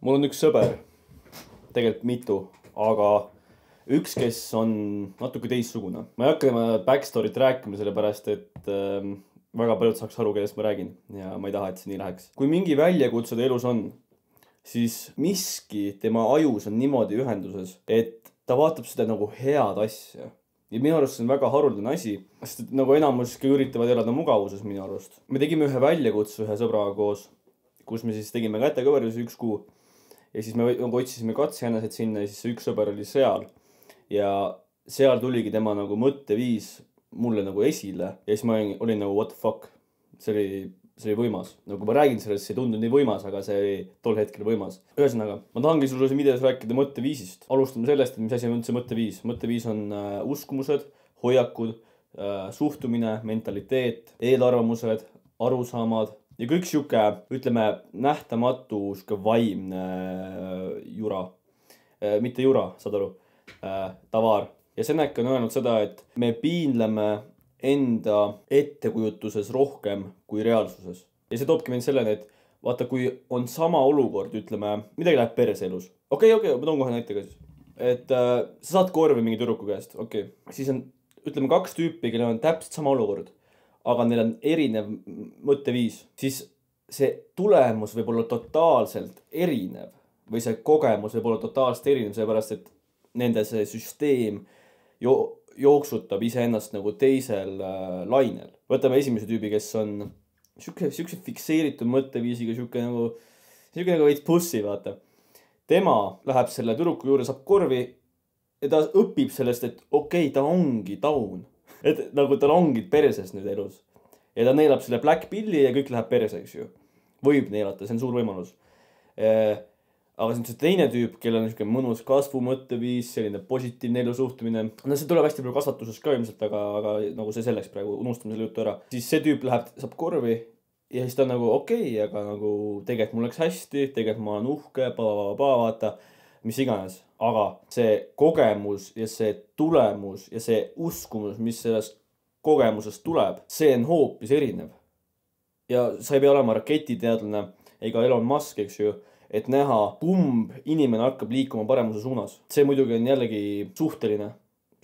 mul on üks sõber, tegelikult mitu, aga üks, kes on natuke teistsugune. Ma ei hakka tema backstory't rääkima, sellepärast et väga paljud saaks aru, kellest ma räägin ja ma ei taha, et see nii läheks. Kui mingi väljakutse ta elus on, siis miski tema ajus on niimoodi ühenduses, et ta vaatab seda nagu head asja. Ja minu arust see on väga haruldane asi, sest nagu enamuski üritavad elada mugavuses minu arust. Me tegime ühe väljakutse ühe sõbraga koos, kus me siis tegime kätekõverdusi 1 kuu. Ja siis me otsisime katsejänesed sinna ja siis see üks sõber oli seal. Ja seal tuligi tema nagu mõtteviis mulle nagu esile. Ja siis ma olin nagu what the fuck. See oli võimas. Nagu ma räägin sellest, see ei tundu nii võimas, aga see oli tol hetkel võimas. Ühesõnaga, ma tahangi sulle siin videos rääkida mõtteviisist. Alustame sellest, et mis asi on üldse mõtteviis. Mõtteviis on uskumused, hoiakud, suhtumine, mentaliteet, eelarvamused, arusaamad ja kõik siuke, ütleme, nähtamatu vaimne jura. Mitte jura, saad aru, tavaar. Ja Seneca on öelnud seda, et me piinleme enda ettekujutuses rohkem kui reaalsuses. Ja see toobki mind selleni, et vaata, kui on sama olukord, ütleme, midagi läheb perse elus. Okei, ma toon kohe näitega siis. Et sa saad korvi mingi tüdruku käest, okei. Siis on, ütleme, 2 tüüpi, kellel on täpselt sama olukord, aga neil on erinev mõtteviis. Siis see tulemus võib olla totaalselt erinev või see kogemus võib olla totaalselt erinev, sellepärast, et nende see süsteem jooksutab iseennast nagu teisel lainel. Võtame esimese tüübi, kes on siukse fikseeritud mõtteviisiga, siuke nagu veits pussi, vaata. Tema läheb selle tüdruku juurde, saab korvi ja ta õpib sellest, et okei, ta ongi taun. Et nagu tal ongi perses nüüd elus. Ja ta neelab selle black pilli ja kõik läheb perseks ju. Võib neelata, see on suur võimalus. Aga see on see teine tüüp, kellel on niisugune mõnus kasvu mõtteviis, selline positiivne elu suhtumine. No see tuleb hästi palju kasvatuses ka ilmselt, aga nagu see selleks praegu, unustame selle juttu ära. Siis see tüüp läheb, saab korvi ja siis ta on nagu okei, aga nagu tegelikult mul läks hästi, tegelikult ma olen uhke, vaata, mis iganes. Aga see kogemus ja see tulemus ja see uskumus, mis sellest kogemusest tuleb, see on hoopis erinev. Ja sa ei pea olema raketiteadlane ega Elon Musk, eks ju, et näha, kumb inimene hakkab liikuma paremuse suunas. See muidugi on jällegi suhteline.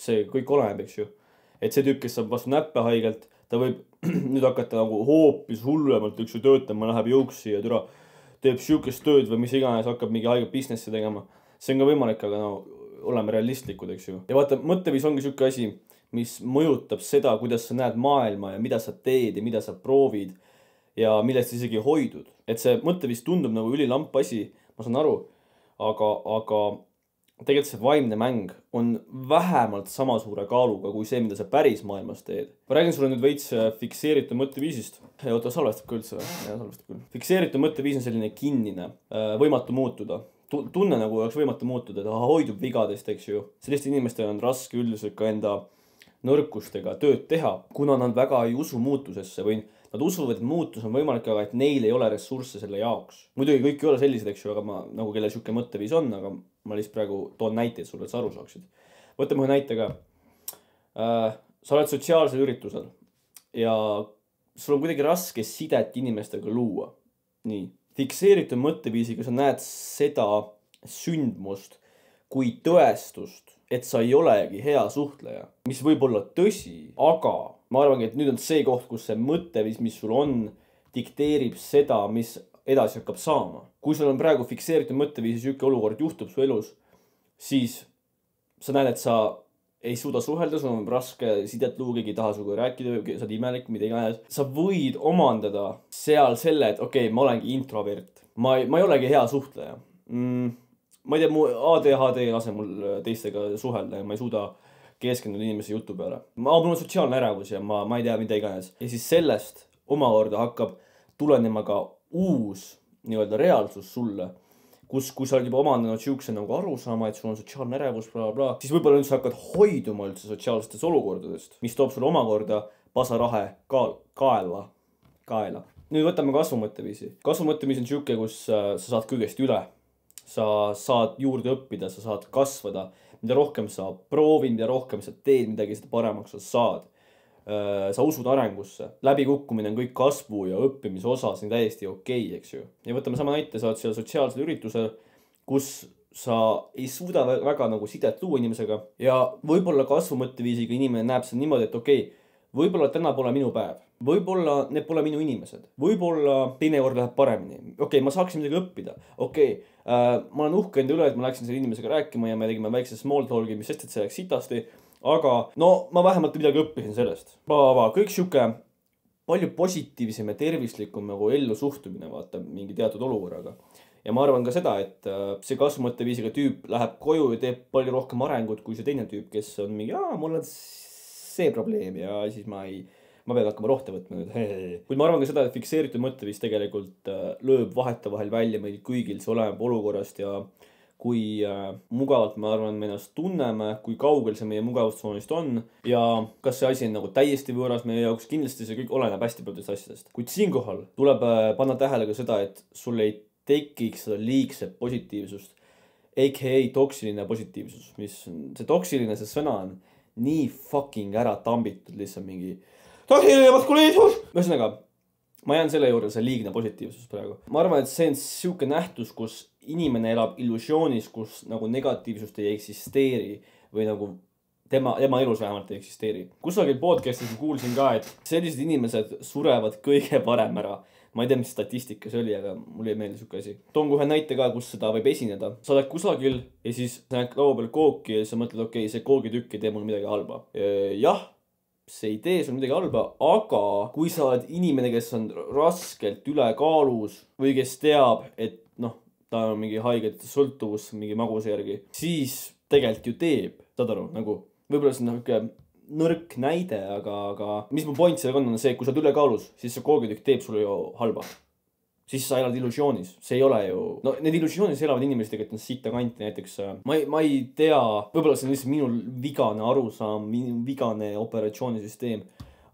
See kõik oleneb, eks ju. Et see tüüp, kes saab vastu näppe haigelt, ta võib nüüd hakata nagu hoopis hullemalt üks ju töötama, läheb jõuksi ja teeb siukest tööd või mis iganes, hakkab mingi haiget businessi tegema. See on ka võimalik, aga no oleme realistlikud, eks ju. Ja vaata, mõtteviis ongi siuke asi, mis mõjutab seda, kuidas sa näed maailma ja mida sa teed ja mida sa proovid ja millest isegi hoidud. Et see mõtteviis tundub nagu ülilamp asi, ma saan aru, aga tegelikult see vaimne mäng on vähemalt sama suure kaaluga kui see, mida sa päris maailmas teed. Ma räägin sulle nüüd veits fikseeritud mõtteviisist. Oota, salvestab ka üldse või? Ja, salvestab küll. Fikseeritud mõtteviis on selline kinnine, võimatu muutuda. Tunne nagu oleks võimatu muutuda, ta hoidub vigadest, eks ju. Selliste inimestel on raske üldiselt ka enda nõrkustega tööd teha, kuna nad väga ei usu muutusesse või nad usuvad, et muutus on võimalik, aga et neil ei ole ressursse selle jaoks. Muidugi kõik ei ole sellised, eks ju, aga ma nagu kelle siuke mõtteviis on, aga ma lihtsalt praegu toon näiteid sulle, et sa aru saaksid. Võtame ühe näite ka. Sa oled sotsiaalsel üritusel ja sul on kuidagi raske sidet inimestega luua. Nii. Fikseeritud mõtteviisiga sa näed seda sündmust kui tõestust, et sa ei olegi hea suhtleja, mis võib olla tõsi, aga ma arvangi, et nüüd on see koht, kus see mõtteviis, mis sul on, dikteerib seda, mis edasi hakkab saama. Kui sul on praegu fikseeritud mõtteviisi siuke olukord juhtub su elus, siis sa näed, et sa ei suuda suhelda, sul on raske sidet luua, keegi ei taha sinuga rääkida, sa oled imelik, mida iganes. Sa võid omandada seal selle, et okei, ma olengi introvert. Ma ei olegi hea suhtleja. Ma ei tea, mu ADHD lase mul teistega suhelda ja ma ei suuda keskenduda inimese jutu peale. Mul on sotsiaalne ärevus ja ma ei tea, mida iganes. Ja siis sellest omakorda hakkab tulenema ka uus nii-öelda reaalsus sulle, kui sa oled juba omandanud siukse nagu arusaama, et sul on sotsiaalne ärevus, siis võib-olla üldse hakkad hoiduma üldse sotsiaalsetest olukordadest, mis toob sulle omakorda pasarahe kaela. Nüüd võtame kasvumõtteviisi. Kasvumõtteviis on siuke, kus sa saad kõigest üle. Sa saad juurde õppida, sa saad kasvada. Mida rohkem sa proovid, mida rohkem sa teed midagi, seda paremaks sa saad. Sa usud arengusse. Läbikukkumine on kõik kasvu ja õppimise osa, see on täiesti okei, eks ju. Ja võtame sama näite, sa oled seal sotsiaalsel üritusel kus sa ei suuda väga nagu sidet luua inimesega ja võib-olla kasvumõtteviisiga inimene näeb seda niimoodi, et okei, võib-olla täna pole minu päev, võib-olla need pole minu inimesed, võib-olla teinekord läheb paremini. Okei, ma saaksin midagi õppida. Okei, ma olen uhke enda üle, et ma läksin selle inimesega rääkima ja me tegime väikse small talk'i, mis sest, et see läks sitasti. Aga no ma vähemalt midagi õppisin sellest. Kõik siuke palju positiivsem ja tervislikum nagu ellu suhtumine vaata mingi teatud olukorraga. Ja ma arvan ka seda, et see kasvumõtteviisiga tüüp läheb koju ja teeb palju rohkem arengut kui see teine tüüp, kes on mingi, mul on see probleem ja siis ma pean hakkama rohte võtma nüüd. Kuid ma arvan ka seda, et fikseeritud mõtteviis tegelikult lööb vahetevahel välja meil kõigil, see oleneb olukorrast ja kui mugavalt ma arvan, me ennast tunneme, kui kaugel see meie mugavustsoonist on ja kas see asi on nagu täiesti võõras meie jaoks, kindlasti see kõik oleneb hästi paljudest asjadest. Kuid siinkohal tuleb panna tähele ka seda, et sul ei tekiks seda liigset positiivsust, aka toksiline positiivsus, mis see toksiline, see sõna on nii fucking ära tambitud lihtsalt mingi toksiline maskuliinsus. Ühesõnaga, ma jään selle juurde, see liigne positiivsus praegu. Ma arvan, et see on siuke nähtus, kus inimene elab illusioonis, kus nagu negatiivsust ei eksisteeri või nagu tema elus vähemalt ei eksisteeri. Kusagil podcastis kuulsin ka, et sellised inimesed surevad kõige varem ära. Ma ei tea, mis statistika see oli, aga mul ei meeldi siuke asi. Toon kohe näite ka, kus seda võib esineda. Sa oled kusagil ja siis sa näed laua peal kooki ja sa mõtled, okei, see koogitükk ei tee mul midagi halba. Jah, see ei tee sul midagi halba, aga kui sa oled inimene, kes on raskelt ülekaalus või kes teab, et ta on mingi haiget sõltuvus mingi maguse järgi, siis tegelikult ju teeb, saad aru, nagu võib-olla see on nõrk näide, aga mis mu point sellega on see, kui sa oled ülekaalus, siis see koogitükk teeb sulle ju halba. Siis sa elad illusioonis. See ei ole ju... No need illusioonis elavad inimesed tegelikult on sitta kanti näiteks. Ma ei tea, võib-olla see on lihtsalt minu vigane arusaam, minu vigane operatsioonisüsteem.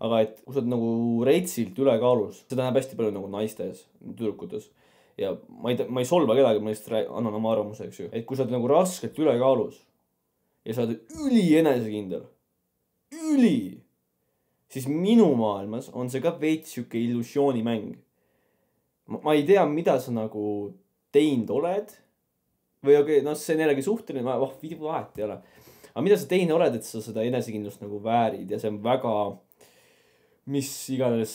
Aga et kui sa oled nagu reitsilt ülekaalus, seda näeb hästi palju nagu naistes, tüdrukutes. Ja ma ei solva kedagi, ma lihtsalt annan oma arvamuse, eks ju. Et kui sa oled nagu raskelt ülekaalus ja sa oled üli enesekindel, siis minu maailmas on see ka veits siuke illusioonimäng. Ma ei tea, mida sa nagu teinud oled või see on jällegi suhteline, vahet ei ole. Aga mida sa teinud oled, et sa seda enesekindlust nagu väärid ja see on väga mis iganes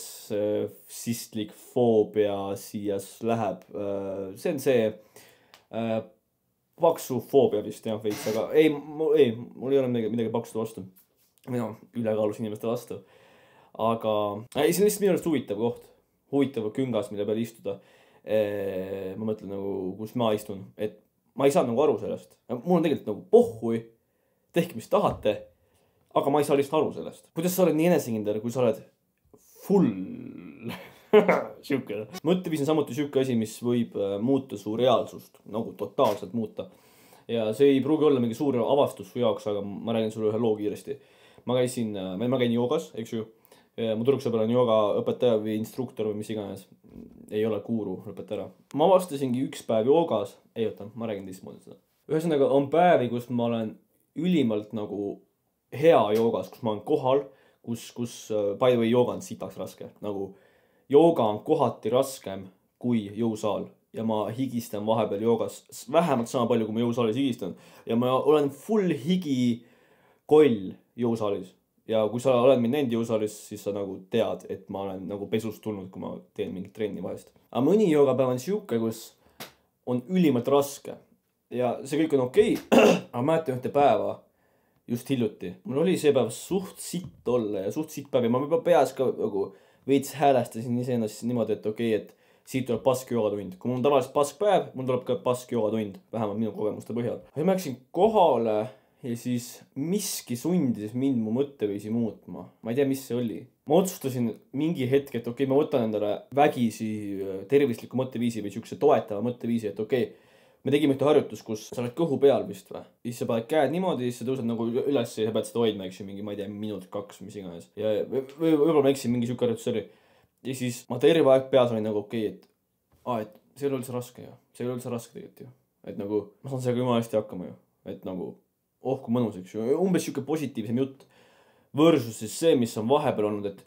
sistlik foobia siia läheb. See on see paksufoobia vist jah veits, aga mul ei ole midagi paksude vastu. Ülekaalus inimeste vastu. Aga see on lihtsalt minu arust huvitav koht. Huvitav küngas, mille peal istuda. Ma mõtlen nagu, kus ma istun. Et ma ei saa nagu aru sellest. Mul on tegelikult nagu pohhui. Tehke, mis tahate. Aga ma ei saa lihtsalt aru sellest. Kuidas sa oled nii enesekindel, kui sa oled full siuke. Mõtteviis on samuti siuke asi, mis võib muuta su reaalsust. Nagu totaalselt muuta. Ja see ei pruugi olla mingi suur avastus su jaoks, aga ma räägin sulle ühe loo kiiresti. Ma käin joogas, eks ju. Mu tüdruksõber on joogaõpetaja või instruktor või mis iganes. Ei ole guru, lõpeta ära. Ma avastasingi üks päev joogas. Ma räägin teistmoodi seda. Ühesõnaga on päevi, kus ma olen ülimalt nagu hea joogas, kus ma olen kohal, kus by the way jooga on sitaks raske. Nagu jooga on kohati raskem kui jõusaal. Ja ma higistan vahepeal joogas vähemalt sama palju, kui ma jõusaalis higistan. Ja ma olen full higi koll jõusaalis. Ja kui sa oled mind näinud jõusaalis, siis sa nagu tead, et ma olen nagu pesust tulnud, kui ma teen mingit trenni vahest. Aga mõni joogapäev on siuke, kus on ülimalt raske. Ja see kõik on okei. Aga mäletan ühte päeva just hiljuti. Mul oli see päev suht sitt olla ja suht sitt päev. Ja ma juba peas ka nagu veits häälestasin iseennast niimoodi, et okei, et siit tuleb pask joogatund. Kui mul on tavaliselt pask päev, mul tuleb ka pask joogatund. Vähemalt minu kogemuste põhjal. Ja ma läksin kohale ja siis miski sundis mind mu mõtteviisi muutma. Ma ei tea, mis see oli. Ma otsustasin mingi hetk, et okei, ma võtan endale vägisi tervisliku mõtteviisi või siukse toetava mõtteviisi, et okei, me tegime ühte harjutus, kus sa oled kõhu peal vist või. Siis sa paned käed niimoodi, siis sa tõused nagu üles ja sa pead seda hoidma, eks ju, mingi, ma ei tea, minut 2, mis iganes. Ja võib-olla ma eksin, mingi siuke harjutus oli. Ja siis ma terve aeg peas olin nagu okei, et see ei ole üldse raske ju. See ei ole üldse raske tegelikult ju. Et nagu, ma saan sellega jumala hästi hakkama ju. Et nagu, kui mõnus, eks ju. Umbes siuke positiivsem jutt. Versus siis see, mis on vahepeal olnud, et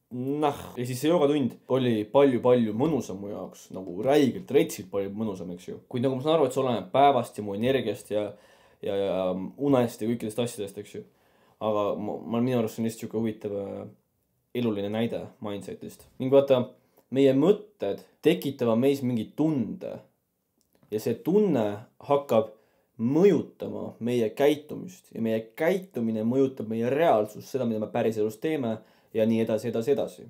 ja siis see joogatund oli palju mõnusam mu jaoks, nagu räigelt, retsilt palju mõnusam, eks ju. kuid nagu ma saan aru, et see oleneb päevast ja mu energiast ja unest ja kõikidest asjadest, eks ju. aga minu arust see on lihtsalt siuke huvitav eluline näide mindset'ist. ning vaata, meie mõtted tekitavad meis mingi tunde ja see tunne hakkab mõjutama meie käitumist ja meie käitumine mõjutab meie reaalsust, seda, mida me päriselus teeme ja nii edasi.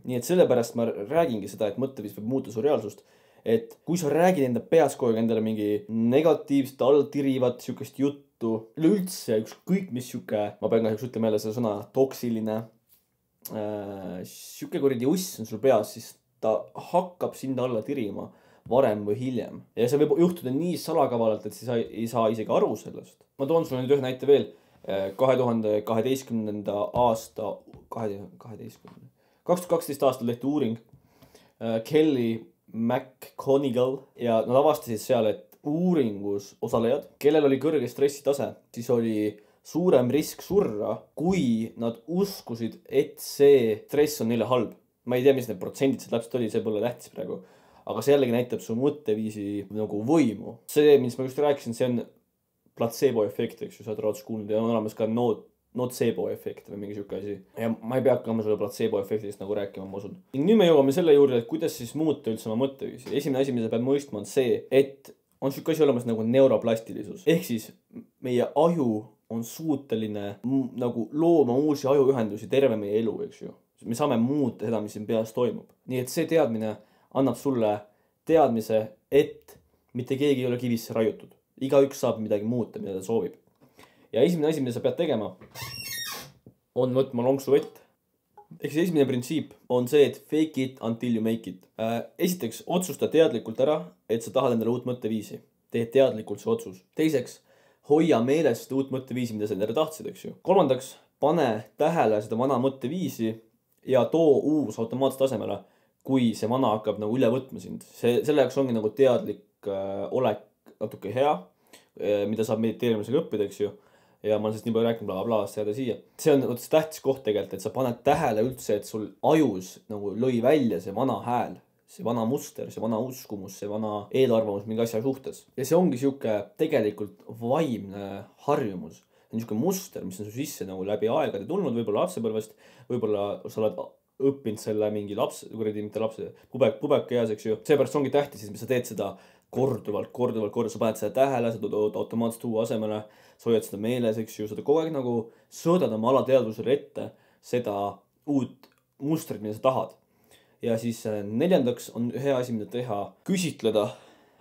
nii et sellepärast ma räägingi seda, et mõtteviis võib muuta su reaalsust. Et kui sa räägid enda peas kogu aeg endale mingi negatiivset, alltirivat siukest juttu, üleüldse ükskõik mis siuke, ma pean kahjuks ütlema jälle seda sõna, toksiline, siuke kuradi uss on sul peas, siis ta hakkab sind alla tirima varem või hiljem. Ja see võib juhtuda nii salakavalalt, et sa ei saa isegi aru sellest. Ma toon sulle nüüd ühe näite veel. 2012. aasta 2012 aastal tehti uuring Kelly McConigal ja nad avastasid seal, et uuringus osalejad, kellel oli kõrge stressitase, siis oli suurem risk surra, kui nad uskusid, et see stress on neile halb. Ma ei tea, mis need protsendid see täpselt oli, see pole tähtis praegu. Aga see jällegi näitab su mõtteviisi nagu võimu. See, mis ma just rääkisin, see on placebo efekt, eks ju, sa oled raudselt kuulnud ja on olemas ka nocebo efekt või mingi siuke asi. Ja ma ei pea hakkama selle placebo efektist nagu rääkima, ma usun. Ning nüüd me jõuame selle juurde, et kuidas siis muuta üldse oma mõtteviisi. Esimene asi, mida peab mõistma, on see, et on siuke asi olemas nagu neuroplastilisus. Ehk siis meie aju on suuteline nagu looma uusi ajuühendusi terve meie elu, eks ju. Me saame muuta seda, mis siin peas toimub. Nii et see teadmine annab sulle teadmise, et mitte keegi ei ole kivisse raiutud. Igaüks saab midagi muuta, mida ta soovib. Ja esimene asi, mida sa pead tegema, on võtma lonksu vett. Ehk siis esimene printsiip on see, et fake it until you make it. Esiteks, otsusta teadlikult ära, et sa tahad endale uut mõtteviisi. Tee teadlikult see otsus. Teiseks, hoia meelest uut mõtteviisi, mida sa endale tahtsid, eks ju. Kolmandaks, pane tähele seda vana mõtteviisi ja too uus automaatselt asemele, kui see vana hakkab nagu üle võtma sind. Selle jaoks ongi nagu teadlik olek natuke hea, mida saab mediteerimisega õppida, eks ju. Ja ma olen sellest nii palju rääkinud, blablabla, jääda siia. See on tähtis koht tegelikult, et sa paned tähele üldse, et sul ajus nagu lõi välja see vana hääl, see vana muster, see vana uskumus, see vana eelarvamus mingi asja suhtes. Ja see ongi siuke tegelikult vaimne harjumus. See on siuke muster, mis on su sisse nagu läbi aegade tulnud, võib-olla lapsepõlvest, võib-olla sa oled õppinud selle mingi pubeka eas, eks ju. Seepärast ongi tähtis, et sa teed seda korduvalt, sa paned seda tähele, sa tood automaatselt uue asemele, sa hoiad seda meeles, eks ju, sa kogu aeg nagu sõõdad oma alateadvusele ette seda uut mustrit, mida sa tahad. Ja siis neljandaks on hea asi, mida teha, küsitleda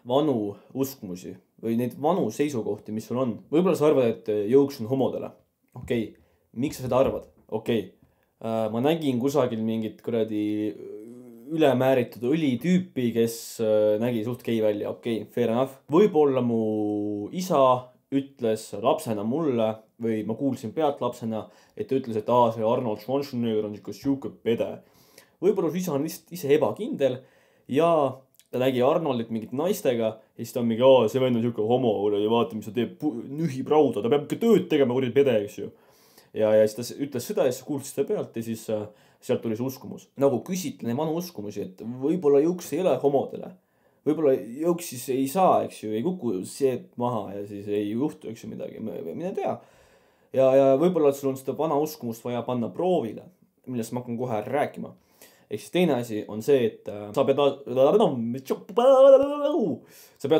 vanu uskumusi või neid vanu seisukohti, mis sul on. Võib-olla sa arvad, et jõuks on homodele. Okei, miks sa seda arvad? Okei, ma nägin kusagil mingit kuradi ülemääritud õlitüüpi, kes nägi suht gei välja. Okei, fair enough. Võib-olla mu isa ütles lapsena mulle või ma kuulsin pealt lapsena, et ta ütles, et see Arnold Schwarzenegger on siuke pede. Võib-olla su isa on lihtsalt ise ebakindel ja ta nägi Arnoldit mingit naistega ja siis ta on mingi, see vend on siuke homo ja vaata, mis ta teeb, nühib rauda, ta peab ikka tööd tegema, kuradi pede, eks ju. Ja siis ta ütles seda ja siis kuulsid seda pealt ja siis sealt tuli see uskumus. Nagu küsitlen vanu uskumusi, et võib-olla jõuks ei ole homodele. Võib-olla jõuks siis ei saa, eks ju, ei kuku see maha ja siis ei juhtu, eks ju midagi, mine tea. Ja võib-olla sul on seda vana uskumust vaja panna proovile, millest ma hakkan kohe rääkima. Ehk siis teine asi on see, et sa pead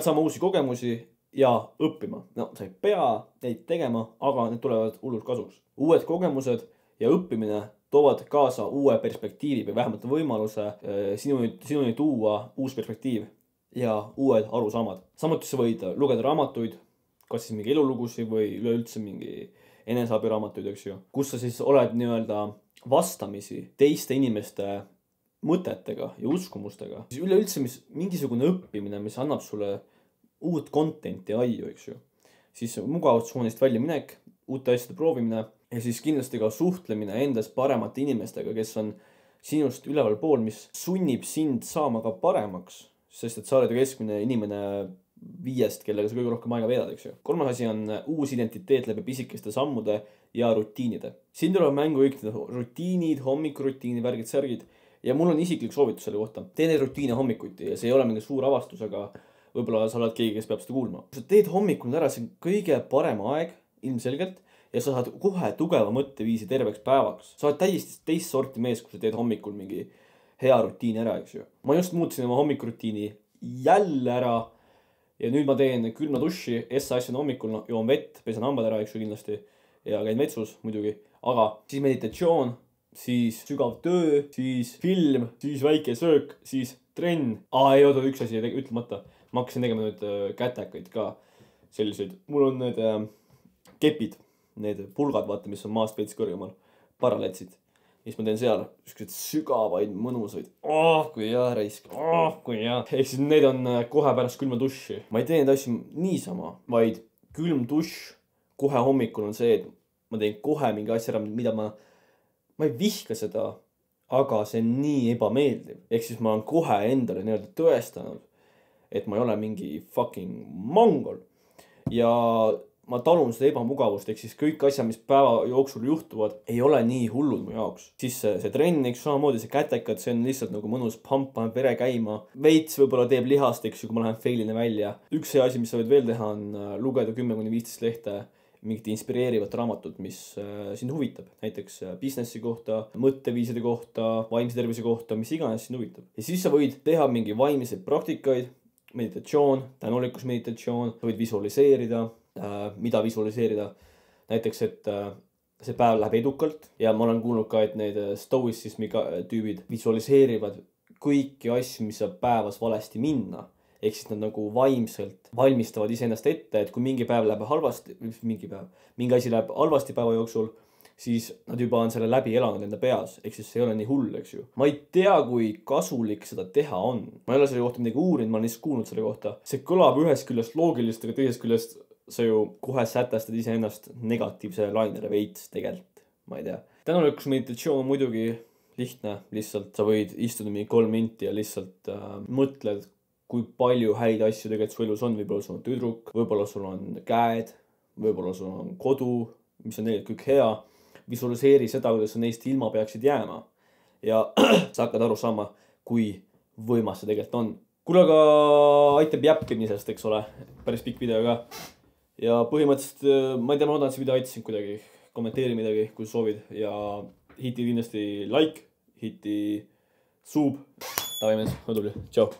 saama uusi kogemusi ja õppima. No, sa ei pea neid tegema, aga need tulevad hullult kasuks. Uued kogemused ja õppimine toovad kaasa uue perspektiivi või vähemalt võimaluse sinuni tuua uus perspektiiv ja uued arusaamad. Samuti sa võid lugeda raamatuid, kas siis mingi elulugusi või üleüldse mingi eneseabiraamatuid, eks ju, kus sa siis oled nii-öelda vastamisi teiste inimeste mõtetega ja uskumustega. Üleüldse mingisugune õppimine, mis annab sulle uut contenti aiu, eks ju. Siis mugavustsoonist välja minek, uute asjade proovimine ja siis kindlasti ka suhtlemine endast paremate inimestega, kes on sinust üleval pool, mis sunnib sind saama ka paremaks, sest et sa oled ju keskmine inimene 5, kellega sa kõige rohkem aega veedad, eks ju. Kolmas asi on uus identiteet läbi pisikeste sammude ja rutiinide. Siin tuleb mängu kõik rutiinid, hommikurutiini, värgid, särgid. ja mul on isiklik soovitus selle kohta. Tee neid rutiine hommikuti ja see ei ole mingi suur avastus, aga võib-olla sa oled keegi, kes peab seda kuulma. Kui sa teed hommikul ära, see on kõige parem aeg ilmselgelt ja sa saad kohe tugeva mõtteviisi terveks päevaks. Sa oled täiesti teist sorti mees, kui sa teed hommikul mingi hea rutiini ära, eks ju. Ma just muutsin oma hommikurutiini jälle ära ja nüüd ma teen külma duši, asjan hommikul, joon vett, pesen hambad ära, eks ju kindlasti ja käin vetsus muidugi, aga siis meditatsioon, siis sügav töö, siis film, siis väike söök, siis trenn. Ei oota, üks asi ütlemata. Ma hakkasin tegema nüüd kätekaid ka selliseid. Mul on need kepid, need pulgad, vaata, mis on maast veits kõrgemal, paralletsid. Mis ma teen seal, ükskord sügavaid, mõnusaid. Kui hea reisk, kui hea. Ehk siis need on kohe pärast külma duši. Ma ei tee neid asju niisama, vaid külm duš kohe hommikul on see, et ma teen kohe mingi asja ära, mida ma ei vihka seda, aga see on nii ebameeldiv. Ehk siis ma olen kohe endale nii-öelda tõestanud, et ma ei ole mingi fucking mongol. Ja ma talun seda ebamugavust, ehk siis kõik asjad, mis päeva jooksul juhtuvad, ei ole nii hullud mu jaoks. Siis see trenn, eks samamoodi see kätekad, see on lihtsalt nagu mõnus pamp, paneb vere käima. Veits võib-olla teeb lihast, eks ju, kui ma lähen failina välja. Üks see asi, mis sa võid veel teha, on lugeda 10-15 lehte mingit inspireerivat raamatut, mis sind huvitab. Näiteks businessi kohta, mõtteviiside kohta, vaimse tervise kohta, mis iganes sind huvitab. Ja siis sa võid teha mingi vaimseid praktikaid, meditatsioon, tänulikkusmeditatsioon, sa võid visualiseerida, mida visualiseerida. Näiteks, et see päev läheb edukalt ja ma olen kuulnud ka, et need stoicismi tüübid visualiseerivad kõiki asju, mis saab päevas valesti minna. Ehk siis nad nagu vaimselt valmistavad iseennast ette, et kui mingi päev läheb halvasti, mingi asi läheb halvasti päeva jooksul, siis nad juba on selle läbi elanud enda peas. Ehk siis see ei ole nii hull, eks ju. Ma ei tea, kui kasulik seda teha on. Ma ei ole selle kohta midagi uurinud, ma olen lihtsalt kuulnud selle kohta. See kõlab ühest küljest loogilist, aga teisest küljest sa ju kohe sätestad iseennast negatiivsele lainele veits tegelikult. Ma ei tea. Tänulikkusmeditatsioon on muidugi lihtne. Lihtsalt sa võid istuda mingi 3 minti ja lihtsalt mõtled, kui palju häid asju tegelikult su elus on. Võib-olla sul on tüdruk, võib-olla sul on käed, võib-olla sul on kodu, mis on tegelikult kõik hea. Visualiseeri seda, kuidas sa neist ilma peaksid jääma. Ja sa hakkad aru saama, kui võimas see tegelikult on. Kuule, aga aitab jäppimisest, eks ole. Päris pikk video ka. Ja põhimõtteliselt, ma ei tea, ma loodan, et see video aitasin kuidagi. Kommenteeri midagi, kui soovid. Ja hiti kindlasti like, hiti sub. Tavai mees, ma tubli. Tšau.